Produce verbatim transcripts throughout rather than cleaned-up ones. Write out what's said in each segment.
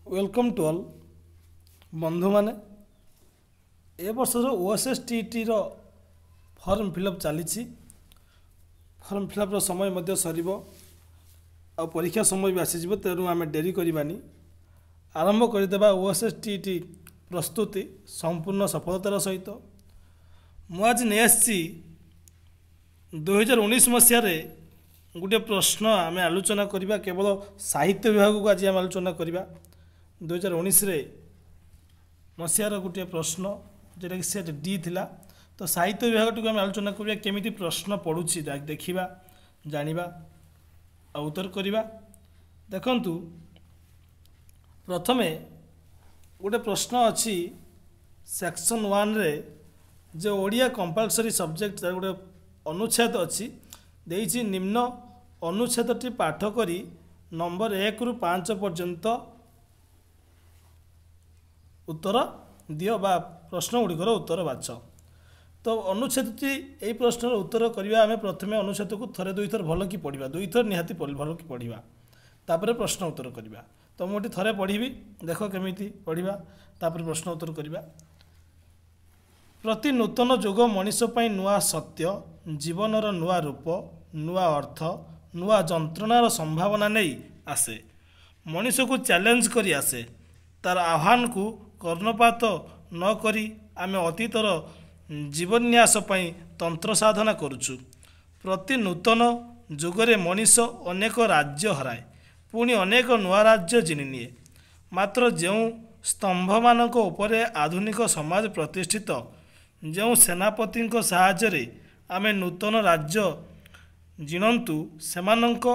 Welcome to all ବନ୍ଧୁମାନେ ଏ ବର୍ଷର ଓ S S T ଟିର ଫର୍ମ ଫିଲ୍ଅପ୍ ଚାଲିଛି ଫର୍ମ ଫିଲ୍ଅପ୍ର ସମୟ ମଧ୍ୟ ସରିବ ଆଉ ପରୀକ୍ଷା ସମୟ ବି ଆସିଯିବ ତେଣୁ ଆମେ ଡେରି କରିବାନି ଆରମ୍ଭ କରିଦେବା ଓ ଏସ୍ ଏସ୍ ଟି ଟି ପ୍ରସ୍ତୁତି ସମ୍ପୂର୍ଣ୍ଣ ସଫଳତାର ସହିତ ମୁଁ ଆଜି ନେଇ ଆସିଛି ଦୁଇହଜାର ଉଣେଇଶ ମସିହାରେ ଗୋଟିଏ ପ୍ରଶ୍ନ ଆମେ ଆଲୋଚନା କରିବା କେବଳ ସାହିତ୍ୟ ବିଭାଗକୁ ଆଜି ଆମେ ଆଲୋଚନା କରିବା ଦୁଇହଜାର ଉଣେଇଶରେ ମସିହାର ଗୋଟିଏ ପ୍ରଶ୍ନ ଯେଉଁଟାକି ସେଟ୍ ଡି ଥିଲା ତ ସାହିତ୍ୟ ବିଭାଗଟିକୁ ଆମେ ଆଲୋଚନା କରିବା କେମିତି ପ୍ରଶ୍ନ ପଡ଼ୁଛି ଦେଖିବା ଜାଣିବା ଆଉ ଉତ୍ତର କରିବା ଦେଖନ୍ତୁ ପ୍ରଥମେ ଗୋଟେ ପ୍ରଶ୍ନ ଅଛି ସେକ୍ସନ୍ ୱାନ୍ରେ ଯେ ଓଡ଼ିଆ କମ୍ପଲସରି ସବଜେକ୍ଟ ତାର ଗୋଟେ ଅନୁଚ୍ଛେଦ ଅଛି ଦେଇଛି ନିମ୍ନ ଅନୁଚ୍ଛେଦଟି ପାଠ କରି ନମ୍ବର ଏକରୁ ପାଞ୍ଚ ପର୍ଯ୍ୟନ୍ତ ଉତ୍ତର ଦିଅ ବା ପ୍ରଶ୍ନ ଗୁଡ଼ିକର ଉତ୍ତର ବାଛ ତ ଅନୁଚ୍ଛେଦଟି ଏଇ ପ୍ରଶ୍ନର ଉତ୍ତର କରିବା ଆମେ ପ୍ରଥମେ ଅନୁଚ୍ଛେଦକୁ ଥରେ ଦୁଇଥର ଭଲକି ପଢ଼ିବା ଦୁଇଥର ନିହାତି ଭଲକି ପଢ଼ିବା ତାପରେ ପ୍ରଶ୍ନ ଉତ୍ତର କରିବା ତ ମୁଁ ଏଠି ଥରେ ପଢ଼ିବି ଦେଖ କେମିତି ପଢ଼ିବା ତାପରେ ପ୍ରଶ୍ନ ଉତ୍ତର କରିବା ପ୍ରତି ନୂତନ ଯୁଗ ମଣିଷ ପାଇଁ ନୂଆ ସତ୍ୟ ଜୀବନର ନୂଆ ରୂପ ନୂଆ ଅର୍ଥ ନୂଆ ଯନ୍ତ୍ରଣାର ସମ୍ଭାବନା ନେଇ ଆସେ ମଣିଷକୁ ଚ୍ୟାଲେଞ୍ଜ କରି ଆସେ ତାର ଆହ୍ୱାନକୁ କର୍ଣ୍ଣପାତ ନ କରି ଆମେ ଅତୀତର ଜୀବନ୍ୟାସ ପାଇଁ ତନ୍ତ୍ର ସାଧନା କରୁଛୁ ପ୍ରତି ନୂତନ ଯୁଗରେ ମଣିଷ ଅନେକ ରାଜ୍ୟ ହରାଏ ପୁଣି ଅନେକ ନୂଆ ରାଜ୍ୟ ଜିଣିନିଏ ମାତ୍ର ଯେଉଁ ସ୍ତମ୍ଭମାନଙ୍କ ଉପରେ ଆଧୁନିକ ସମାଜ ପ୍ରତିଷ୍ଠିତ ଯେଉଁ ସେନାପତିଙ୍କ ସାହାଯ୍ୟରେ ଆମେ ନୂତନ ରାଜ୍ୟ ଜିଣନ୍ତୁ ସେମାନଙ୍କ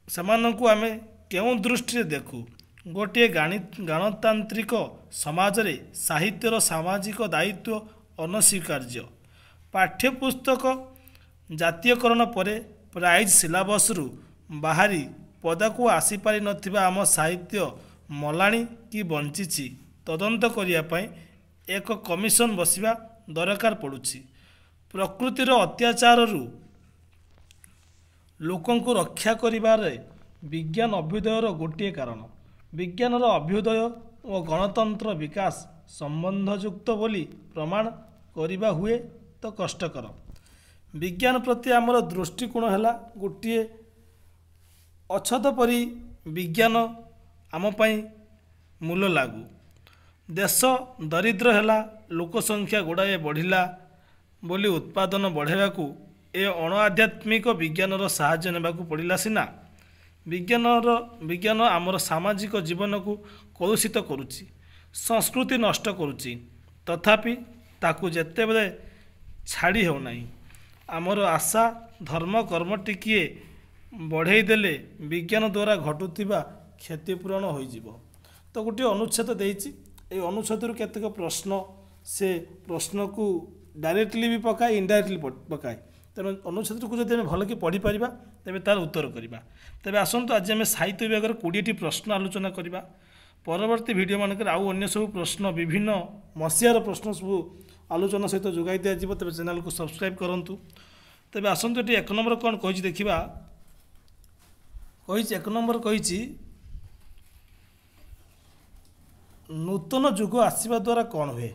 ସେମାନଙ୍କୁ ଆମେ କେଉଁ ଦୃଷ୍ଟିରେ ଦେଖୁ ଗୋଟିଏ ଗାଣି ଗଣତାନ୍ତ୍ରିକ ସମାଜରେ ସାହିତ୍ୟର ସାମାଜିକ ଦାୟିତ୍ୱ ଅନସ୍ୱୀକାର୍ଯ୍ୟ ପାଠ୍ୟପୁସ୍ତକ ଜାତୀୟକରଣ ପରେ ପ୍ରାଇଜ୍ ସିଲାବସ୍ରୁ ବାହାରି ପଦାକୁ ଆସିପାରିନଥିବା ଆମ ସାହିତ୍ୟ ମଲାଣି କି ବଞ୍ଚିଛି ତଦନ୍ତ କରିବା ପାଇଁ ଏକ କମିଶନ ବସିବା ଦରକାର ପଡ଼ୁଛି ପ୍ରକୃତିର ଅତ୍ୟାଚାରରୁ ଲୋକଙ୍କୁ ରକ୍ଷା କରିବାରେ ବିଜ୍ଞାନ ଅଭ୍ୟୁଦୟର ଗୋଟିଏ କାରଣ ବିଜ୍ଞାନର ଅଭ୍ୟୁଦୟ ଓ ଗଣତନ୍ତ୍ର ବିକାଶ ସମ୍ବନ୍ଧଯୁକ୍ତ ବୋଲି ପ୍ରମାଣ କରିବା ହୁଏ ତ କଷ୍ଟକର ବିଜ୍ଞାନ ପ୍ରତି ଆମର ଦୃଷ୍ଟିକୋଣ ହେଲା ଗୋଟିଏ ଅଛଦ ପରି ବିଜ୍ଞାନ ଆମ ପାଇଁ ମୂଲ ଲାଗୁ ଦେଶ ଦରିଦ୍ର ହେଲା ଲୋକ ସଂଖ୍ୟା ଗୁଡ଼ାଏ ବଢ଼ିଲା ବୋଲି ଉତ୍ପାଦନ ବଢ଼ାଇବାକୁ ଏ ଅଣଆଧ୍ୟାତ୍ମିକ ବିଜ୍ଞାନର ସାହାଯ୍ୟ ନେବାକୁ ପଡ଼ିଲା ସିନା ବିଜ୍ଞାନର ବିଜ୍ଞାନ ଆମର ସାମାଜିକ ଜୀବନକୁ କଳୁଷିତ କରୁଛି ସଂସ୍କୃତି ନଷ୍ଟ କରୁଛି ତଥାପି ତାକୁ ଯେତେବେଳେ ଛାଡ଼ି ହେଉନାହିଁ ଆମର ଆଶା ଧର୍ମ କର୍ମ ଟିକିଏ ବଢ଼େଇ ଦେଲେ ବିଜ୍ଞାନ ଦ୍ୱାରା ଘଟୁଥିବା କ୍ଷତିପୂରଣ ହୋଇଯିବ ତ ଗୋଟିଏ ଅନୁଚ୍ଛେଦ ଦେଇଛି ଏଇ ଅନୁଚ୍ଛେଦରୁ କେତେକ ପ୍ରଶ୍ନ ସେ ପ୍ରଶ୍ନକୁ ଡାଇରେକ୍ଟଲି ବି ପକାଏ ଇନଡାଇରେକ୍ଟଲି ପକାଏ ତେଣୁ ଅନୁଚ୍ଛେଦକୁ ଯଦି ଆମେ ଭଲକି ପଢ଼ିପାରିବା ତେବେ ତାର ଉତ୍ତର କରିବା ତେବେ ଆସନ୍ତୁ ଆଜି ଆମେ ସାହିତ୍ୟ ବିଭାଗର କୋଡ଼ିଏଟି ପ୍ରଶ୍ନ ଆଲୋଚନା କରିବା ପରବର୍ତ୍ତୀ ଭିଡ଼ିଓ ମାନଙ୍କରେ ଆଉ ଅନ୍ୟ ସବୁ ପ୍ରଶ୍ନ ବିଭିନ୍ନ ମସିହାର ପ୍ରଶ୍ନ ସବୁ ଆଲୋଚନା ସହିତ ଯୋଗାଇ ଦିଆଯିବ ତେବେ ଚ୍ୟାନେଲକୁ ସବସ୍କ୍ରାଇବ୍ କରନ୍ତୁ ତେବେ ଆସନ୍ତୁ ଏଠି ଏକ ନମ୍ବର କ'ଣ କହିଛି ଦେଖିବା କହିଛି ଏକ ନମ୍ବର କହିଛି ନୂତନ ଯୁଗ ଆସିବା ଦ୍ୱାରା କ'ଣ ହୁଏ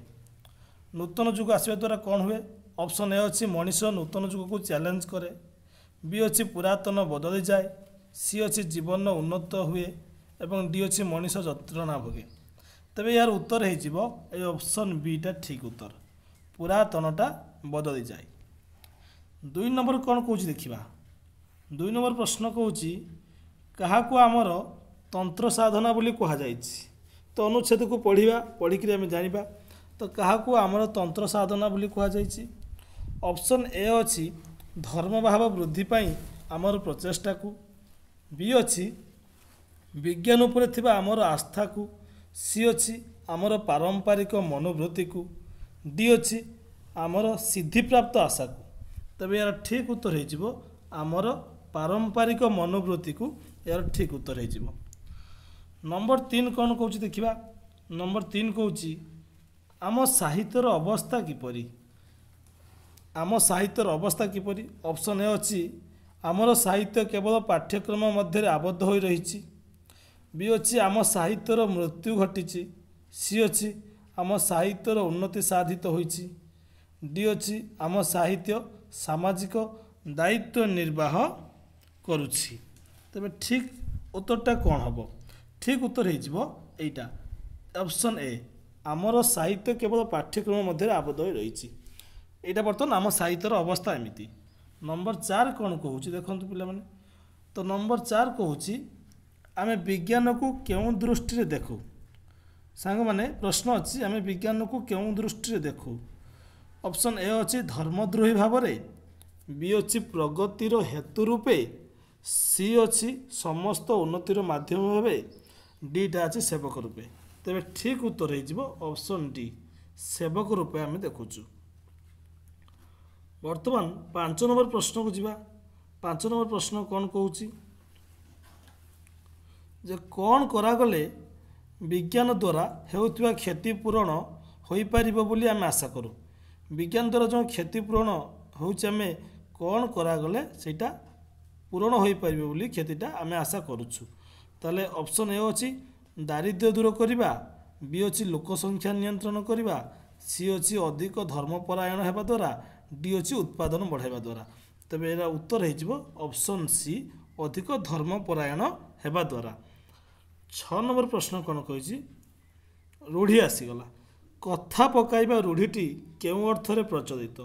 ନୂତନ ଯୁଗ ଆସିବା ଦ୍ୱାରା କ'ଣ ହୁଏ ଅପସନ୍ ଏ ଅଛି ମଣିଷ ନୂତନ ଯୁଗକୁ ଚ୍ୟାଲେଞ୍ଜ କରେ ବି ଅଛି ପୁରାତନ ବଦଳିଯାଏ ସି ଅଛି ଜୀବନ ଉନ୍ନତ ହୁଏ ଏବଂ ଡି ଅଛି ମଣିଷ ଯନ୍ତ୍ରଣା ଭୋଗେ ତେବେ ଏହାର ଉତ୍ତର ହେଇଯିବ ଏଇ ଅପସନ୍ ବିଟା ଠିକ୍ ଉତ୍ତର ପୁରାତନଟା ବଦଳିଯାଏ ଦୁଇ ନମ୍ବର କ'ଣ କହୁଛି ଦେଖିବା ଦୁଇ ନମ୍ବର ପ୍ରଶ୍ନ କହୁଛି କାହାକୁ ଆମର ତନ୍ତ୍ର ସାଧନା ବୋଲି କୁହାଯାଇଛି ତ ଅନୁଚ୍ଛେଦକୁ ପଢ଼ିବା ପଢ଼ିକିରି ଆମେ ଜାଣିବା ତ କାହାକୁ ଆମର ତନ୍ତ୍ର ସାଧନା ବୋଲି କୁହାଯାଇଛି ଅପସନ୍ ଏ ଅଛି ଧର୍ମଭାବ ବୃଦ୍ଧି ପାଇଁ ଆମର ପ୍ରଚେଷ୍ଟାକୁ ବି ଅଛି ବିଜ୍ଞାନ ଉପରେ ଥିବା ଆମର ଆସ୍ଥାକୁ ସି ଅଛି ଆମର ପାରମ୍ପରିକ ମନୋବୃତ୍ତିକୁ ଡି ଅଛି ଆମର ସିଦ୍ଧିପ୍ରାପ୍ତ ଆଶାକୁ ତେବେ ଏହାର ଠିକ୍ ଉତ୍ତର ହେଇଯିବ ଆମର ପାରମ୍ପରିକ ମନୋବୃତ୍ତିକୁ ଏହାର ଠିକ୍ ଉତ୍ତର ହେଇଯିବ ନମ୍ବର ତିନି କ'ଣ କହୁଛି ଦେଖିବା ନମ୍ବର ତିନି କହୁଛି ଆମ ସାହିତ୍ୟର ଅବସ୍ଥା କିପରି ଆମ ସାହିତ୍ୟର ଅବସ୍ଥା କିପରି ଅପସନ୍ ଏ ଅଛି ଆମର ସାହିତ୍ୟ କେବଳ ପାଠ୍ୟକ୍ରମ ମଧ୍ୟରେ ଆବଦ୍ଧ ହୋଇ ରହିଛି ବି ଅଛି ଆମ ସାହିତ୍ୟର ମୃତ୍ୟୁ ଘଟିଛି, ସି ଅଛି ଆମ ସାହିତ୍ୟର ଉନ୍ନତି ସାଧିତ ହୋଇଛି, ଡି ଅଛି ଆମ ସାହିତ୍ୟ ସାମାଜିକ ଦାୟିତ୍ୱ ନିର୍ବାହ କରୁଛି। ତେବେ ଠିକ୍ ଉତ୍ତରଟା କ'ଣ ହେବ? ଠିକ୍ ଉତ୍ତର ହେଇଯିବ ଏଇଟା ଅପସନ୍ ଏ, ଆମର ସାହିତ୍ୟ କେବଳ ପାଠ୍ୟକ୍ରମ ମଧ୍ୟରେ ଆବଦ୍ଧ ହୋଇ ରହିଛି। ଏଇଟା ବର୍ତ୍ତମାନ ଆମ ସାହିତ୍ୟର ଅବସ୍ଥା ଏମିତି। ନମ୍ବର ଚାରି କ'ଣ କହୁଛି ଦେଖନ୍ତୁ ପିଲାମାନେ। ତ ନମ୍ବର ଚାରି କହୁଛି ଆମେ ବିଜ୍ଞାନକୁ କେଉଁ ଦୃଷ୍ଟିରେ ଦେଖୁ? ସାଙ୍ଗମାନେ ପ୍ରଶ୍ନ ଅଛି ଆମେ ବିଜ୍ଞାନକୁ କେଉଁ ଦୃଷ୍ଟିରେ ଦେଖୁ? ଅପସନ୍ ଏ ଅଛି ଧର୍ମଦ୍ରୋହୀ ଭାବରେ, ବି ଅଛି ପ୍ରଗତିର ହେତୁ ରୂପେ, ସି ଅଛି ସମସ୍ତ ଉନ୍ନତିର ମାଧ୍ୟମ ଭାବେ, ଡିଟା ଅଛି ସେବକ ରୂପେ। ତେବେ ଠିକ୍ ଉତ୍ତର ହେଇଯିବ ଅପସନ୍ ଡି, ସେବକ ରୂପେ ଆମେ ଦେଖୁଛୁ। ବର୍ତ୍ତମାନ ପାଞ୍ଚ ନମ୍ବର ପ୍ରଶ୍ନକୁ ଯିବା। ପାଞ୍ଚ ନମ୍ବର ପ୍ରଶ୍ନ କ'ଣ କହୁଛି ଯେ କ'ଣ କରାଗଲେ ବିଜ୍ଞାନ ଦ୍ୱାରା ହେଉଥିବା କ୍ଷତିପୂରଣ ହୋଇପାରିବ ବୋଲି ଆମେ ଆଶା କରୁ? ବିଜ୍ଞାନ ଦ୍ୱାରା ଯେଉଁ କ୍ଷତିପୂରଣ ହେଉଛି ଆମେ କ'ଣ କରାଗଲେ ସେଇଟା ପୂରଣ ହୋଇପାରିବ ବୋଲି କ୍ଷତିଟା ଆମେ ଆଶା କରୁଛୁ? ତାହେଲେ ଅପସନ୍ ଏ ଅଛି ଦାରିଦ୍ର୍ୟ ଦୂର କରିବା, ବି ଅଛି ଲୋକ ସଂଖ୍ୟା ନିୟନ୍ତ୍ରଣ କରିବା, ସି ଅଛି ଅଧିକ ଧର୍ମପରାୟଣ ହେବା ଦ୍ୱାରା, ଡି ଅଛି ଉତ୍ପାଦନ ବଢ଼ାଇବା ଦ୍ୱାରା। ତେବେ ଏହାର ଉତ୍ତର ହେଇଯିବ ଅପସନ୍ ସି, ଅଧିକ ଧର୍ମପରାୟଣ ହେବା ଦ୍ୱାରା। ଛଅ ନମ୍ବର ପ୍ରଶ୍ନ କ'ଣ କହିଛି? ରୂଢ଼ି ଆସିଗଲା। କଥା ପକାଇବା ରୂଢ଼ିଟି କେଉଁ ଅର୍ଥରେ ପ୍ରଚଳିତ?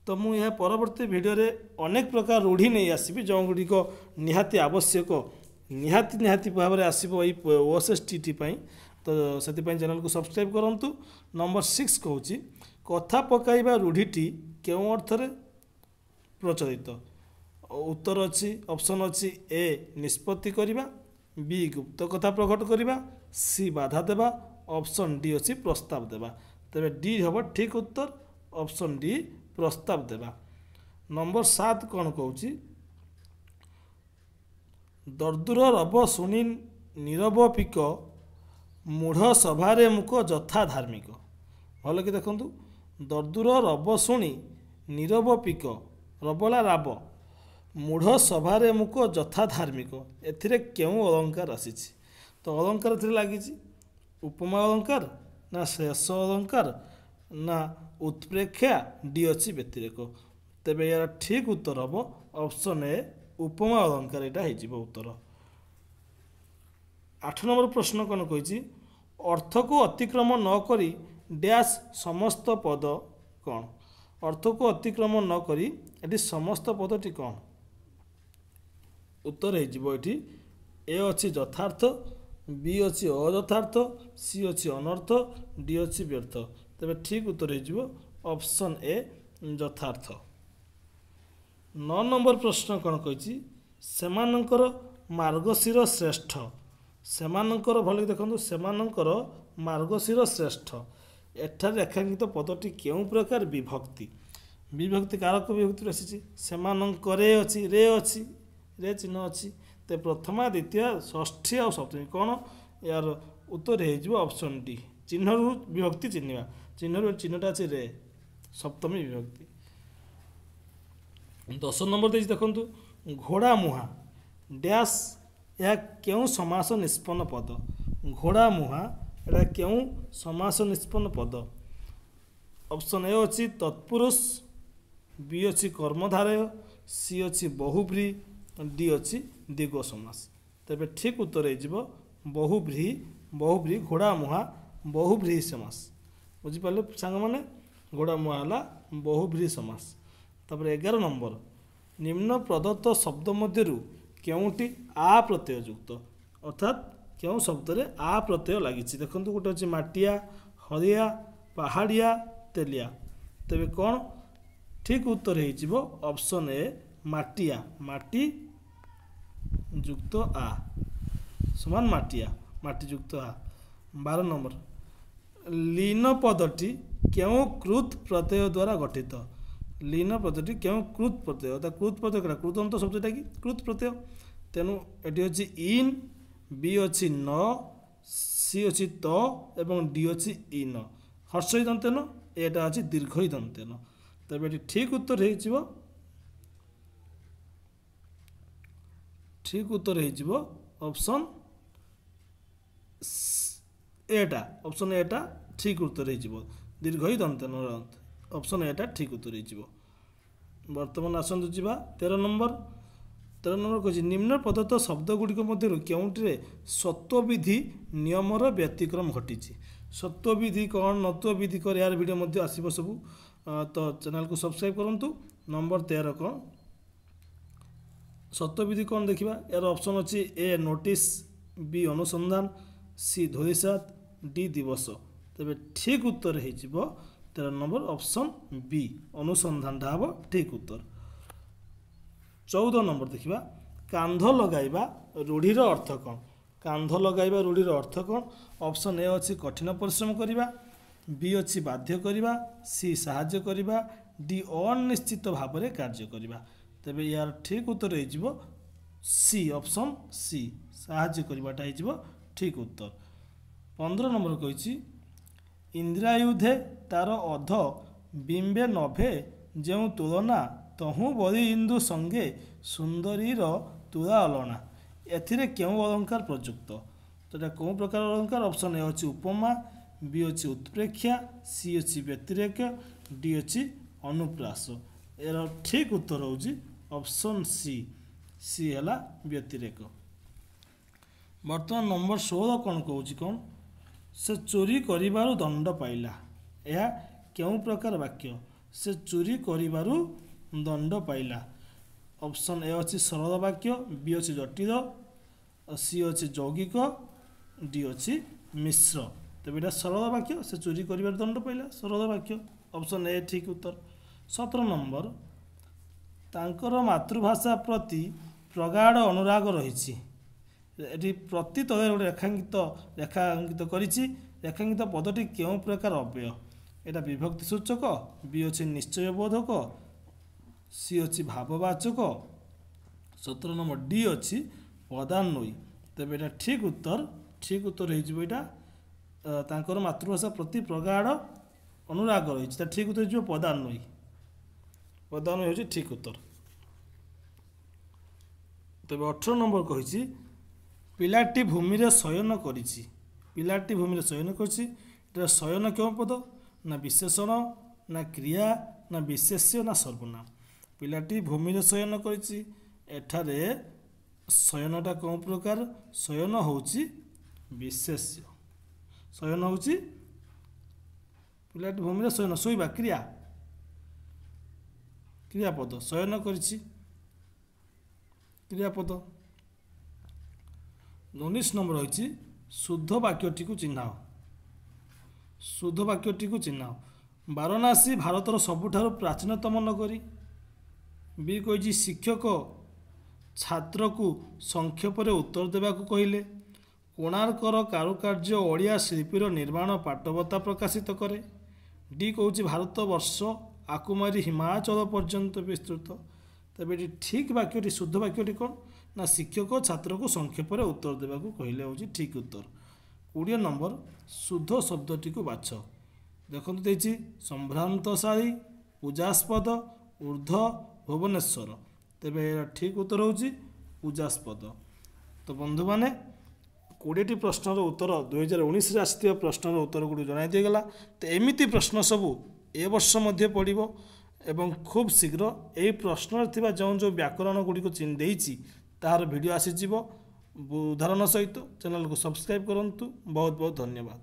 ତ ମୁଁ ଏହା ପରବର୍ତ୍ତୀ ଭିଡ଼ିଓରେ ଅନେକ ପ୍ରକାର ରୂଢ଼ି ନେଇ ଆସିବି, ଯେଉଁଗୁଡ଼ିକ ନିହାତି ଆବଶ୍ୟକ, ନିହାତି ନିହାତି ଭାବରେ ଆସିବ ଏଇ ଓ ଏସ୍ ଏସ୍ ଟି ଟି ପାଇଁ। ତ ସେଥିପାଇଁ ଚ୍ୟାନେଲକୁ ସବସ୍କ୍ରାଇବ୍ କରନ୍ତୁ। ନମ୍ବର ସିକ୍ସ କହୁଛି କଥା ପକାଇବା ରୂଢ଼ିଟି କେଉଁ ଅର୍ଥରେ ପ୍ରଚଳିତ? ଉତ୍ତର ଅଛି ଅପସନ୍ ଅଛି ଏ ନିଷ୍ପତ୍ତି କରିବା, ବି ଗୁପ୍ତ କଥା ପ୍ରକଟ କରିବା, ସି ବାଧା ଦେବା, ଅପସନ୍ ଡି ଅଛି ପ୍ରସ୍ତାବ ଦେବା। ତେବେ ଡି ହେବ ଠିକ୍ ଉତ୍ତର, ଅପସନ୍ ଡି ପ୍ରସ୍ତାବ ଦେବା। ନମ୍ବର ସାତ କ'ଣ କହୁଛି? ଦର୍ଦୁର ରବ ଶୁଣି ନୀରବ ପିକ, ମୂଢ଼ ସଭାରେ ମୁକ ଯଥା ଧାର୍ମିକ। ଭଲ କି ଦେଖନ୍ତୁ, ଦର୍ଦୁର ରବ ଶୁଣି ନୀରବ ପିକ, ରବଲା ରାବ, ମୂଢ଼ ସଭାରେ ମୁକ ଯଥା ଧାର୍ମିକ, ଏଥିରେ କେଉଁ ଅଳଙ୍କାର ଆସିଛି? ତ ଅଳଙ୍କାର ଏଥିରେ ଲାଗିଛି ଉପମା ଅଳଙ୍କାର ନା ଶ୍ଲେଷ ଅଳଙ୍କାର ନା ଉତ୍ପ୍ରେକ୍ଷା, ଡି ଅଛି ବ୍ୟତିରେକ। ତେବେ ଏହାର ଠିକ୍ ଉତ୍ତର ହେବ ଅପସନ୍ ଏ ଉପମା ଅଳଙ୍କାର, ଏଇଟା ହେଇଯିବ ଉତ୍ତର। ଆଠ ନମ୍ବର ପ୍ରଶ୍ନ କ'ଣ କହିଛି? ଅର୍ଥକୁ ଅତିକ୍ରମ ନ କରି ଡ୍ୟାସ୍ ସମସ୍ତ ପଦ କ'ଣ? ଅର୍ଥକୁ ଅତିକ୍ରମ ନ କରି ଏଠି ସମସ୍ତ ପଦଟି କ'ଣ? ଉତ୍ତର ହେଇଯିବ ଏଠି ଏ ଅଛି ଯଥାର୍ଥ, ବି ଅଛି ଅଯଥାର୍ଥ, ସି ଅଛି ଅନର୍ଥ, ଡି ଅଛି ବ୍ୟର୍ଥ। ତେବେ ଠିକ୍ ଉତ୍ତର ହେଇଯିବ ଅପସନ୍ ଏ ଯଥାର୍ଥ। ନଅ ନମ୍ବର ପ୍ରଶ୍ନ କ'ଣ କହିଛି? ସେମାନଙ୍କର ମାର୍ଗଶିର ଶ୍ରେଷ୍ଠ। ସେମାନଙ୍କର ଭଲ ଦେଖନ୍ତୁ, ସେମାନଙ୍କର ମାର୍ଗଶିର ଶ୍ରେଷ୍ଠ, ଏଠାରେ ରେଖାଙ୍କିତ ପଦଟି କେଉଁ ପ୍ରକାର ବିଭକ୍ତି? ବିଭକ୍ତି କାରକ ବିଭକ୍ତିରୁ ଆସିଛି। ସେମାନଙ୍କରେ ଅଛି, ରେ ଅଛି, ରେ ଚିହ୍ନ ଅଛି। ତ ପ୍ରଥମା, ଦ୍ୱିତୀୟ, ଷଷ୍ଠୀ ଆଉ ସପ୍ତମୀ କ'ଣ? ଏହାର ଉତ୍ତର ହେଇଯିବ ଅପସନ୍ ଡି। ଚିହ୍ନରୁ ବିଭକ୍ତି ଚିହ୍ନିବା, ଚିହ୍ନରୁ ଚିହ୍ନଟା ଅଛି ରେ, ସପ୍ତମୀ ବିଭକ୍ତି। ଦଶ ନମ୍ବର ଦେଇଛି ଦେଖନ୍ତୁ, ଘୋଡ଼ା ମୁହାଁ ଡ୍ୟାସ୍ ଏହା କେଉଁ ସମାସ ନିଷ୍ପନ୍ନ ପଦ? ଘୋଡ଼ା ମୁହାଁ ଏଟା କେଉଁ ସମାସ ନିଷ୍ପନ୍ନ ପଦ? ଅପସନ୍ ଏ ଅଛି ତତ୍ପୁରୁଷ, ବି ଅଛି କର୍ମଧାରୟ, ସି ଅଛି ବହୁବ୍ରୀହି, ଡି ଅଛି ଦ୍ୱିଗୁ ସମାସ। ତେବେ ଠିକ୍ ଉତ୍ତର ହେଇଯିବ ବହୁବ୍ରୀହି, ବହୁବ୍ରୀହି ଘୋଡ଼ା ମୁହାଁ ବହୁବ୍ରୀହି ସମାସ। ବୁଝିପାରିଲେ ସାଙ୍ଗମାନେ? ଘୋଡ଼ା ମୁହାଁ ହେଲା ବହୁବ୍ରୀହି ସମାସ। ତାପରେ ଏଗାର ନମ୍ବର, ନିମ୍ନ ପ୍ରଦତ୍ତ ଶବ୍ଦ ମଧ୍ୟରୁ କେଉଁଟି ଆ ପ୍ରତ୍ୟୟ ଯୁକ୍ତ? ଅର୍ଥାତ୍ କେଉଁ ଶବ୍ଦରେ ଆ ପ୍ରତ୍ୟୟ ଲାଗିଛି? ଦେଖନ୍ତୁ ଗୋଟେ ଅଛି ମାଟିଆ, ହରିଆ, ପାହାଡ଼ିଆ, ତେଲିଆ। ତେବେ କ'ଣ ଠିକ୍ ଉତ୍ତର ହେଇଯିବ ଅପସନ୍ ଏ ମାଟିଆ, ମାଟି ଯୁକ୍ତ ଆ ସମାନ ମାଟିଆ, ମାଟି ଯୁକ୍ତ ଆ। ବାର ନମ୍ବର, ଲୀନ ପଦଟି କେଉଁ କୃତ୍ ପ୍ରତ୍ୟୟ ଦ୍ୱାରା ଗଠିତ? ଲୀନ ପଦଟି କେଉଁ କୃତ୍ ପ୍ରତ୍ୟୟ? ତା କୃତ୍ ପ୍ରତ୍ୟୟ କେଉଁଟା? କୃଦନ୍ତ ଶବ୍ଦଟା କି କୃତ୍ ପ୍ରତ୍ୟୟ। ତେଣୁ ଏଠି ଅଛି ଇନ୍, ବି ଅଛି ନ, ସି ଅଛି ତ ଏବଂ ଡି ଅଛି ଇନ। ହର୍ଷଇ ଦନ୍ତେନ, ଏଟା ଅଛି ଦୀର୍ଘଇ ଦନ୍ତେନ। ତେବେ ଏଠି ଠିକ୍ ଉତ୍ତର ହେଇଯିବ, ଠିକ୍ ଉତ୍ତର ହେଇଯିବ ଅପସନ୍ ଏଟା ଅପସନ୍ ଏଟା ଠିକ୍ ଉତ୍ତର ହେଇଯିବ ଦୀର୍ଘ ଇ ଦନ୍ତେ ନ ଅପସନ୍ ଏଟା ଠିକ୍ ଉତ୍ତର ହେଇଯିବ ବର୍ତ୍ତମାନ ଆସନ୍ତୁ ଯିବା ତେର ନମ୍ବର ତେର ନମ୍ବର କହୁଛି ନିମ୍ନ ପ୍ରଦତ୍ତ ଶବ୍ଦ ଗୁଡ଼ିକ ମଧ୍ୟରୁ କେଉଁଟିରେ ସତ୍ୱବିଧି ନିୟମର ବ୍ୟତିକ୍ରମ ଘଟିଛି ସତ୍ୱବିଧି କ'ଣ ନତ୍ୱବିଧି କ'ଣ ଏହାର ଭିଡ଼ିଓ ମଧ୍ୟ ଆସିବ ସବୁ ତ ଚ୍ୟାନେଲକୁ ସବସ୍କ୍ରାଇବ୍ କରନ୍ତୁ ନମ୍ବର ତେର କ'ଣ ସତ୍ୱବିଧି କ'ଣ ଦେଖିବା ଏହାର ଅପସନ୍ ଅଛି ଏ ନୋଟିସ୍ ବି ଅନୁସନ୍ଧାନ ସି ଧୂଳିସାତ ଡି ଦିବସ ତେବେ ଠିକ୍ ଉତ୍ତର ହେଇଯିବ ତେର ନମ୍ବର ଅପସନ୍ ବି ଅନୁସନ୍ଧାନଟା ହେବ ଠିକ୍ ଉତ୍ତର ଚଉଦ ନମ୍ବର ଦେଖିବା କାନ୍ଧ ଲଗାଇବା ରୂଢ଼ିର ଅର୍ଥ କ'ଣ କାନ୍ଧ ଲଗାଇବା ରୂଢ଼ିର ଅର୍ଥ କ'ଣ ଅପସନ୍ ଏ ଅଛି କଠିନ ପରିଶ୍ରମ କରିବା ବି ଅଛି ବାଧ୍ୟ କରିବା ସି ସାହାଯ୍ୟ କରିବା ଡି ଅନିଶ୍ଚିତ ଭାବରେ କାର୍ଯ୍ୟ କରିବା ତେବେ ଏହାର ଠିକ୍ ଉତ୍ତର ହେଇଯିବ ସି ଅପସନ୍ ସି ସାହାଯ୍ୟ କରିବାଟା ହେଇଯିବ ଠିକ୍ ଉତ୍ତର ପନ୍ଦର ନମ୍ବର କହିଛି ଇନ୍ଦ୍ରାୟୁଧେ ତାର ଅଧ ବିମ୍ବେ ନଭେ ଯେଉଁ ତୁଳନା ତହୁଁ ବଳି ଇନ୍ଦୁ ସଙ୍ଗେ ସୁନ୍ଦରୀର ତୁଳା ଅଲଣା ଏଥିରେ କେଉଁ ଅଳଙ୍କାର ପ୍ରଯୁକ୍ତ ତ ଏଇଟା କେଉଁ ପ୍ରକାର ଅଳଙ୍କାର ଅପସନ୍ ଏ ଅଛି ଉପମା ବି ଅଛି ଉତ୍ପ୍ରେକ୍ଷା ସି ଅଛି ବ୍ୟତିରେକ ଡି ଅଛି ଅନୁପ୍ରାସ ଏହାର ଠିକ୍ ଉତ୍ତର ହେଉଛି ଅପସନ୍ ସି ସି ହେଲା ବ୍ୟତିରେକ ବର୍ତ୍ତମାନ ନମ୍ବର ଷୋହଳ କ'ଣ କହୁଛି କ'ଣ ସେ ଚୋରି କରିବାରୁ ଦଣ୍ଡ ପାଇଲା ଏହା କେଉଁ ପ୍ରକାର ବାକ୍ୟ ସେ ଚୋରି କରିବାରୁ ଦଣ୍ଡ ପାଇଲା ଅପସନ୍ ଏ ଅଛି ସରଳ ବାକ୍ୟ ବି ଅଛି ଜଟିଳ ସି ଅଛି ଯୌଗିକ ଡି ଅଛି ମିଶ୍ର ତେବେ ଏଇଟା ସରଳ ବାକ୍ୟ ସେ ଚୋରି କରିବାରୁ ଦଣ୍ଡ ପାଇଲା ସରଳ ବାକ୍ୟ ଅପସନ୍ ଏ ଠିକ୍ ଉତ୍ତର ସତର ନମ୍ବର ତାଙ୍କର ମାତୃଭାଷା ପ୍ରତି ପ୍ରଗାଢ଼ ଅନୁରାଗ ରହିଛି ଏଠି ପ୍ରତି ତଳେ ଗୋଟେ ରେଖାଙ୍କିତ ରେଖାଙ୍କିତ କରିଛି ରେଖାଙ୍କିତ ପଦଟି କେଉଁ ପ୍ରକାର ଅବ୍ୟୟ ଏଇଟା ବିଭକ୍ତି ସୂଚକ ବି ଅଛି ନିଶ୍ଚୟ ବୋଧକ ସି ଅଛି ଭାବବାଚକ ସତର ନମ୍ବର ଡି ଅଛି ପଦାନ୍ୱୟୀ ତେବେ ଏଇଟା ଠିକ୍ ଉତ୍ତର ଠିକ୍ ଉତ୍ତର ହେଇଯିବ ଏଇଟା ତାଙ୍କର ମାତୃଭାଷା ପ୍ରତି ପ୍ରଗାଢ଼ ଅନୁରାଗ ରହିଛି ତା ଠିକ୍ ଉତ୍ତର ହେଇଯିବ ପଦାନ୍ୱୟୀ ପଦାନ୍ୱୟୀ ହେଉଛି ଠିକ୍ ଉତ୍ତର ତେବେ ଅଠର ନମ୍ବର କହିଛି ପିଲାଟି ଭୂମିରେ ଶୟନ କରିଛି ପିଲାଟି ଭୂମିରେ ଶୟନ କରିଛି ଏଟା ଶୟନ କେଉଁ ପଦ ନା ବିଶେଷଣ ନା କ୍ରିୟା ନା ବିଶେଷ୍ୟ ନା ସର୍ବନାମ ପିଲାଟି ଭୂମିରେ ଶୟନ କରିଛି ଏଠାରେ ଶୟନଟା କେଉଁ ପ୍ରକାର ଶୟନ ହେଉଛି ବିଶେଷ୍ୟ ଶୟନ ହେଉଛି ପିଲାଟି ଭୂମିରେ ଶୟନ ଶୋଇବା କ୍ରିୟା କ୍ରିୟାପଦ ଶୟନ କରିଛି କ୍ରିୟାପଦ ଉଣେଇଶ ନମ୍ବର ରହିଛି ଶୁଦ୍ଧ ବାକ୍ୟଟିକୁ ଚିହ୍ନାଅ ଶୁଦ୍ଧ ବାକ୍ୟଟିକୁ ଚିହ୍ନାଅ ବାରାଣସୀ ଭାରତର ସବୁଠାରୁ ପ୍ରାଚୀନତମ ନଗରୀ ବି କହିଛି ଶିକ୍ଷକ ଛାତ୍ରକୁ ସଂକ୍ଷେପରେ ଉତ୍ତର ଦେବାକୁ କହିଲେ କୋଣାର୍କର କାରୁକାର୍ଯ୍ୟ ଓଡ଼ିଆ ଶିଳ୍ପୀର ନିର୍ମାଣ ପାଟବତା ପ୍ରକାଶିତ କରେ ଡି କହୁଛି ଭାରତ ବର୍ଷ ଆକୁମାରୀ ହିମାଚଳ ପର୍ଯ୍ୟନ୍ତ ବିସ୍ତୃତ ତେବେ ଏଠି ଠିକ୍ ବାକ୍ୟଟି ଶୁଦ୍ଧ ବାକ୍ୟଟି କ'ଣ ନା ଶିକ୍ଷକ ଛାତ୍ରକୁ ସଂକ୍ଷେପରେ ଉତ୍ତର ଦେବାକୁ କହିଲେ ହେଉଛି ଠିକ୍ ଉତ୍ତର କୋଡ଼ିଏ ନମ୍ବର ଶୁଦ୍ଧ ଶବ୍ଦଟିକୁ ବାଛ ଦେଖନ୍ତୁ ଦେଇଛି ସମ୍ଭ୍ରାନ୍ତଶାଳୀ ପୂଜାସ୍ପଦ ଉର୍ଦ୍ଧ୍ୱ ଭୁବନେଶ୍ୱର ତେବେ ଏହାର ଠିକ୍ ଉତ୍ତର ହେଉଛି ପୂଜାସ୍ପଦ ତ ବନ୍ଧୁମାନେ କୋଡ଼ିଏଟି ପ୍ରଶ୍ନର ଉତ୍ତର ଦୁଇହଜାର ଉଣେଇଶରେ ଆସିଥିବା ପ୍ରଶ୍ନର ଉତ୍ତର ଗୁଡ଼ିକ ଜଣାଇ ଦିଆଗଲା ତ ଏମିତି ପ୍ରଶ୍ନ ସବୁ ଏ ବର୍ଷ ମଧ୍ୟ ପଡ଼ିବ ଏବଂ ଖୁବ୍ ଶୀଘ୍ର ଏହି ପ୍ରଶ୍ନରେ ଥିବା ଯେଉଁ ଯେଉଁ ବ୍ୟାକରଣ ଗୁଡ଼ିକ ଦେଇଛି ତାହାର ଭିଡ଼ିଓ ଆସିଯିବ ଉଦାହରଣ ସହିତ ଚ୍ୟାନେଲକୁ ସବସ୍କ୍ରାଇବ୍ କରନ୍ତୁ ବହୁତ ବହୁତ ଧନ୍ୟବାଦ।